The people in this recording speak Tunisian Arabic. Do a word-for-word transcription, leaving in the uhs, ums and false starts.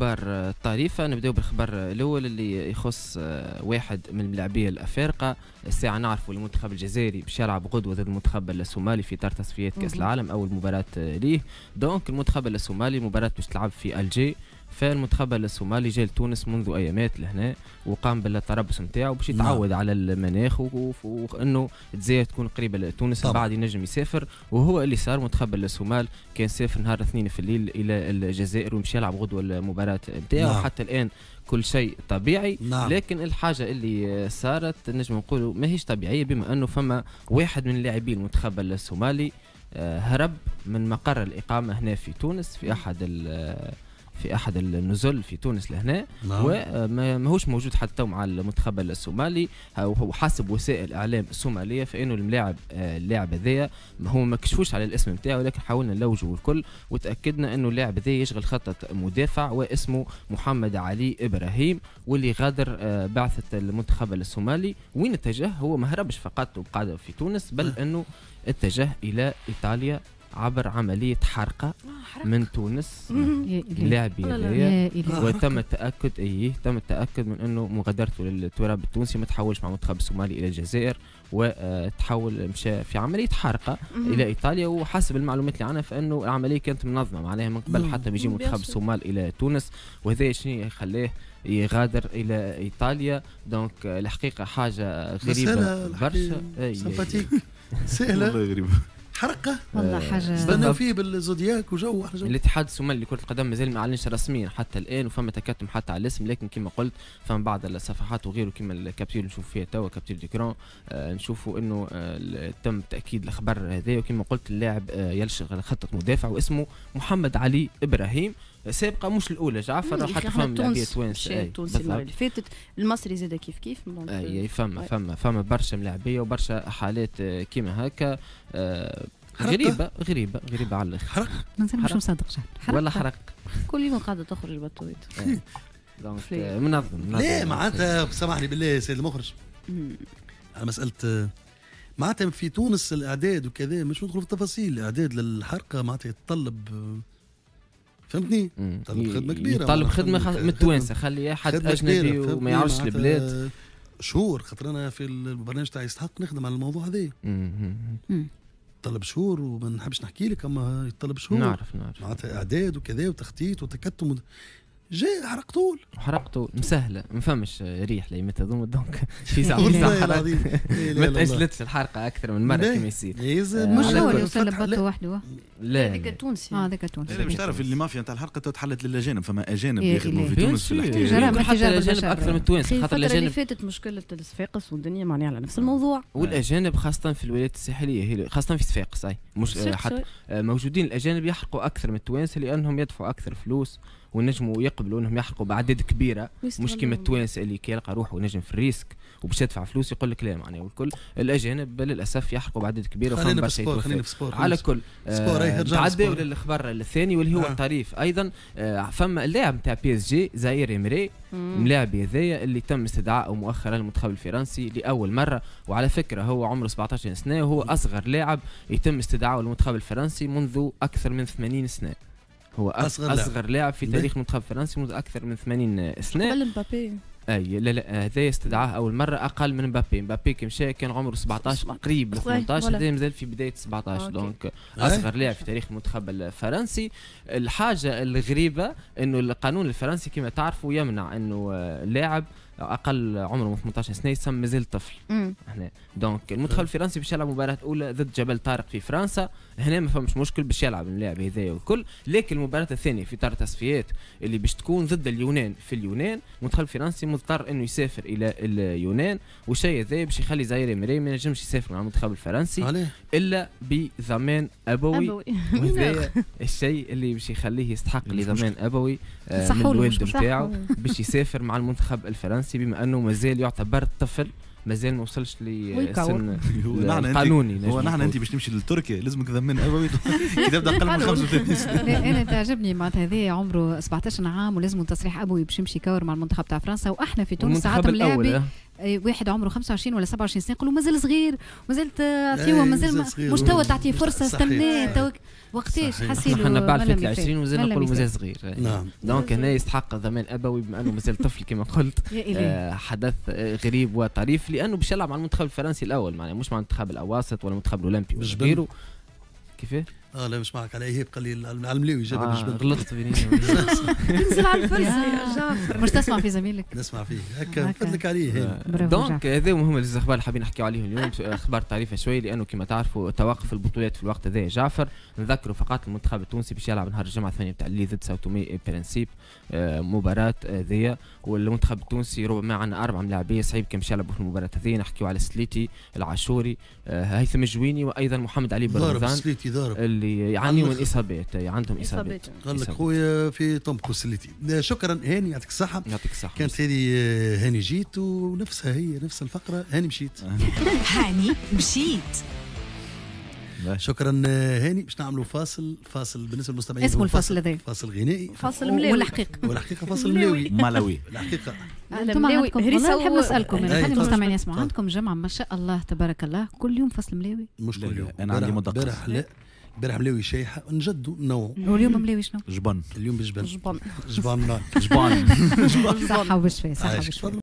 الاخبار الطريفه. نبداو بالخبر الاول اللي يخص واحد من الملاعبيه الافارقة. الساعة نعرفوا المنتخب الجزائري باش يلعب غدوه ضد المنتخب الصومالي في اطار تصفيات كاس العالم، اول مباراة ليه. donc المنتخب الصومالي مباراة باش تلعب في الجي، فالمنتخب الصومالي جاء لتونس منذ ايامات لهنا وقام بالتربص نتاعو باش يتعود نعم. على المناخ وانه الجزائر تكون قريبه لتونس، بعد ينجم يسافر. وهو اللي صار، منتخب الصومال كان سافر نهار الاثنين في الليل الى الجزائر ومشى يلعب غدوه المباراة نتاعو. نعم. حتى الان كل شيء طبيعي. نعم. لكن الحاجة اللي صارت نجم نقولوا ماهيش طبيعيه، بما انه فما واحد من اللاعبين المنتخب الصومالي هرب من مقر الاقامة هنا في تونس في احد في احد النزل في تونس لهنا. نعم. وماهوش موجود حتى مع المنتخب الصومالي. وحسب وسائل الاعلام الصومالية فانه الملاعب اللاعب هذايا هو ما كشفوش على الاسم نتاعو، لكن حاولنا نلوجوا الكل وتاكدنا انه اللاعب هذايا يشغل خطه مدافع واسمه محمد علي ابراهيم، واللي غادر بعثه المنتخب الصومالي. وين اتجه؟ هو ما هربش فقط وقعد في تونس، بل انه اتجه الى ايطاليا عبر عملية حرقة من تونس. اللاعب هذايا وتم التأكد ايه تم التأكد من انه مغادرته للتراب التونسي ما تحولش مع المنتخب الصومالي الى الجزائر، وتحول مشى في عملية حرقة الى ايطاليا. وحسب المعلومات اللي عندنا فانه العملية كانت منظمة، معناها من قبل حتى بيجي منتخب الصومال الى تونس، وهذا شنو خلاه يغادر الى ايطاليا. donc الحقيقة حاجة غريبة برشا، sympathique سهلة غريبة حرقه والله حاجة استناو فيه بالزودياك وجو. الاتحاد الصومالي لكرة القدم مازال ما اعلنش رسميا حتى الان، وفما تكتم حتى على الاسم، لكن كما قلت فما بعض الصفحات وغيره كما ال capture اللي نشوف فيها توا capture d'écran، آه نشوفوا انه آه تم تاكيد الخبر هذا. وكما قلت اللاعب آه يشغل خطه مدافع واسمه محمد علي ابراهيم. سابقه مش الاولى جعفر، حتى فما لاعبيه توانسة التونسي المرة اللي فاتت، المصري زاد كيف كيف. اي فما فما فما برشا ملاعبيه وبرشا حالات كيما هكا آه غريبة غريبة غريبة على الاخر. حرق مازال مش مصدق جعفر، ولا حرق كل يوم قاعدة تخرج بطويت. donc منظم. لا معناتها سامحني بالله سيد المخرج على مسالة معناتها في تونس الاعداد وكذا، مش ندخل في التفاصيل. الاعداد للحرقه معناتها يتطلب، فهمتني؟ يطلب خدمة كبيرة، يطلب خدمة من التوانسة، خلي حد اجنبي وما يعرفش البلاد شهور. خاطر انا في البرنامج تاع يستحق نخدم على الموضوع هذا، يطلب شهور وما نحبش نحكي لك، اما يطلب شهور. نعرف نعرف معناتها اعداد وكذا وتخطيط وتكتم. جاي حرق طول، حرق طول مسهلة، ما فماش ريح ليمتى هذوما. donc في ساعة حرق ما تاجلتش الحرقة اكثر من مرة كما يصير. مش هو اللي وصل لبطه وحده، لا هذاك التونسي. اه هذاك التونسي. باش تعرف اللي مافيا نتاع الحرقة تحلت للاجانب، فما اجانب يخدموا في تونس في الحكاية، حتى الاجانب اكثر من التوانسة. خاطر الاجانب اللي فاتت مشكلة الصفاقس والدنيا معناها على نفس الموضوع، والاجانب خاصة في الولايات الساحلية، خاصة في صفاقس اي مش حتى موجودين الاجانب يحرقوا اكثر من التوانسة لانهم يدفعوا اكثر فلوس ونجموا يقبلوا انهم يحرقوا باعداد كبيرة، مش كيما التوانسة اللي كي يلقى روحه نجم في ال risque وباش يدفع فلوس يقول لك لا معناها. والكل الاجانب للاسف يحرقوا باعداد كبيرة. خلينا في sport، خلينا في sport على كل. آه تعداو للخبر الثاني واللي هو آه. الطريف ايضا. آه فما اللاعب نتاع PSG زاير إمري، اللاعب هذايا اللي تم استدعائه مؤخرا للمنتخب الفرنسي لاول مرة، وعلى فكرة هو عمره سبعطاش سنة وهو اصغر لاعب يتم استدعائه للمنتخب الفرنسي منذ اكثر من ثمانين سنة. هو اصغر, أصغر لاعب في تاريخ المنتخب الفرنسي منذ اكثر من ثمانين سنة. قبل مبابي. اي لا لا هذا استدعاه اول مرة اقل من مبابي. مبابي كي مشى كان عمره سبعطاش قريب ل ثمنطاش، هذا مازال في بداية سبعطاش. donc اصغر لاعب في تاريخ المنتخب الفرنسي. الحاجة الغريبة انه القانون الفرنسي كما تعرفوا يمنع انه لاعب اقل عمره من ثمنطاش سنة يسمى مازال طفل هنا. donc المنتخب الفرنسي باش يلعب مباراة اولى ضد جبل طارق في فرنسا، هنا ما فماش مشكل باش يلعب اللاعب هذايا والكل. لكن المباراة الثانية في اطار التصفيات اللي باش تكون ضد اليونان في اليونان، المنتخب الفرنسي مضطر انه يسافر الى اليونان، والشيء هذا باش يخلي زاير إمري ما ينجمش يسافر مع المنتخب الفرنسي عليه. الا بضمان ابوي، وهذا الشيء اللي باش يخليه يستحق لضمان ابوي آه من الوالد نتاعو باش يسافر مع المنتخب الفرنسي، بما انه مازال يعتبر طفل، مازال ما وصلش لسن القانوني. هو نحن انت باش تمشي لتركيا لازمك ضمان ابوي كي تبدا اقل من خمسة وثلاثين سنة. انا تعجبني معناتها هذا عمره سبعطاش عام ولازم تصريح ابوي باش يمشي يكور مع المنتخب تاع فرنسا، واحنا في تونس ساعات ملاعبي واحد عمره خمسة وعشرين ولا سبعة وعشرين سنة يقولوا مازال صغير، مازال تعطيه، مازال مش توا تعطيه فرصة، استناه وقتاش حسيلو. احنا بعد فات العشرين ومازال نقولوا مازال صغير. نعم. donc هنا يستحق ضمان ابوي بما انه مازال طفل كما قلت. آه حدث غريب وطريف لانه باش يلعب مع المنتخب الفرنسي الاول، معناها مش مع المنتخب الاواسط ولا المنتخب الاولمبي ولا غيره. كيفاه؟ اه لا مش معك على ايهاب، قال لي على الملاوي جاب آه بالجبل. غلطت بيني. تنزل على الفرصة يا جعفر. مش تسمع في زميلك؟ نسمع فيه هكا نفدلك عليه. donc هذا مهم الاخبار اللي حابين نحكيو عليهم اليوم، اخبار طريفه شوي لانه كما تعرفوا توقف البطولات في الوقت هذا جعفر. نذكروا فقط المنتخب التونسي باش يلعب نهار الجمعة ثمانية تاع الليل ضد ساوتومي برنسيب مباراة هذيا، والمنتخب التونسي ربما عندنا اربع ملاعبيه صعيب كان باش يلعبوا في المباراة هذه. نحكيو على سليتي العاشوري، هيثم الجويني، وايضا محمد علي برمضان سليتي ضارب اللي يعانيوا من اصابات، عندهم اصابات. قال لك خويا في طنبكو سليتي. شكرا هاني، يعطيك الصحة. يعطيك الصحة. كانت هذه هاني جيت، ونفسها هي نفس الفقرة هاني مشيت. هاني مشيت. شكرا هاني. باش نعملوا فاصل، فاصل بالنسبة للمستمعين اسمه الفاصل هذا فاصل غنائي، فاصل ملاوي، والحقيقة والحقيقة فاصل ملاوي ملاوي الحقيقة. انتم عندكم، والله نحب نسالكم، انا خلي المستمعين يسمعوا، عندكم جمعه ما شاء الله تبارك الله كل يوم فاصل ملاوي؟ مش كل يوم، انا عندي مدقق. امبارح لا، امبارح ملاوي شايحه، نجدوا نوعوا. واليوم ملاوي شنو؟ جبن. اليوم بجبن. جبن جبن جبن. صحة وبشفاء، صحة وبشفاء.